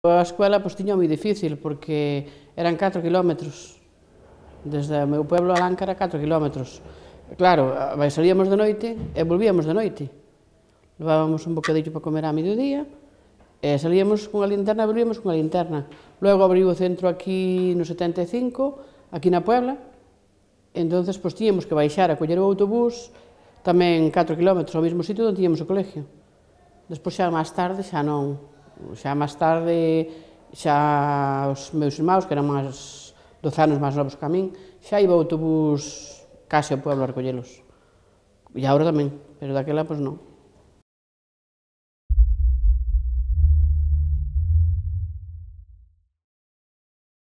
A escuela pois, tiña moi difícil porque eran 4 kilómetros. Desde o meu pueblo a Lanca era 4 kilómetros. Claro, salíamos de noite e volvíamos de noite. Levábamos un bocadillo para comer a mediodía e salíamos cunha linterna e volvíamos cunha linterna. Logo abriu o centro aquí no 75, aquí na Puebla, entonces pois tiñamos que baixar a coller o autobús tamén 4 kilómetros ao mesmo sitio onde tiñamos o colegio. Despois xa máis tarde xa non. Xa máis tarde, xa os meus irmãos, que eran máis 12 anos máis novos que a min, xa iba o autobús case ao pueblo a recollelos. E agora tamén, pero daquela, pois non.